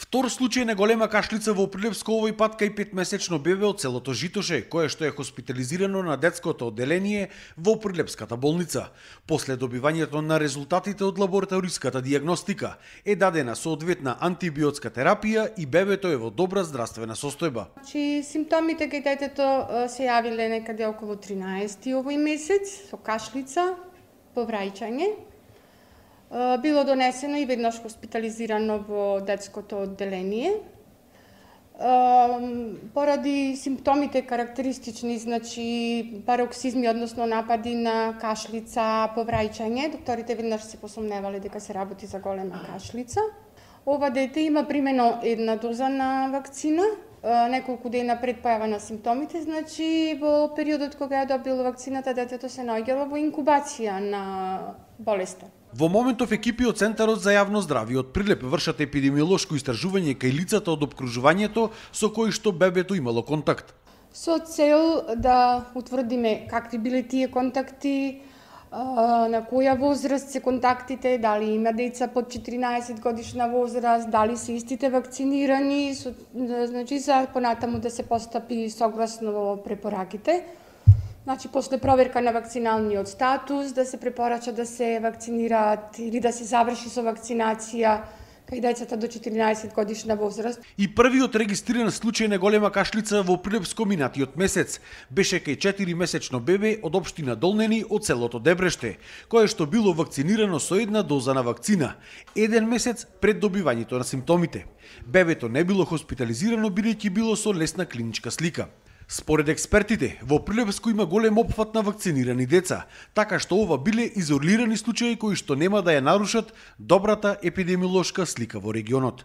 Втор случај на голема кашлица во Прилепско овој пат кај 5-месечно бебе од селото Житоше, кое што е хоспитализирано на детското одделение во Прилепската болница. После добивањето на резултатите од лабораториската дијагностика е дадена соодветна антибиотска терапија и бебето е во добра здравствена состојба. Симптомите кај детето се јавиле некаде околу 13 овој месец со кашлица, повраќање. Било донесено и веднаш хоспитализирано во детското одделение. Поради симптомите карактеристични, значи пароксизми, односно напади на кашлица, повраќање, докторите веднаш се посомневале дека се работи за голема кашлица. Ова дете има примено една доза на вакцина, неколку дена пред појава на симптомите, значи во периодот кога ја добило вакцината, детето се наоѓало во инкубација на болеста. Во моментов екипи од Центарот за јавно здравје од Прилеп вршат епидемиолошко истражување кај лицата од опкружувањето со кои што бебето имало контакт. Со цел да утврдиме какви биле тие контакти, на која возраст се контактите, дали има деца под 14 годишна возраст, дали се истите вакцинирани, значи за понатаму да се постапи согласно во препораките. Значи, после проверка на вакциналниот статус, да се препорача да се вакцинираат или да се заврши со вакцинација кај децата до 14 годишна возраст. И првиот регистриран случај на голема кашлица во Прилепско минатиот месец беше кај 4-месечно бебе од општина Долнени од селото Дебреште, кое што било вакцинирано со една доза на вакцина, еден месец пред добивањето на симптомите. Бебето не било хоспитализирано бидејќи било со лесна клиничка слика. Според експертите, во Прилепско има голем опфат на вакцинирани деца, така што ова биле изолирани случаи кои што нема да ја нарушат добрата епидемиолошка слика во регионот.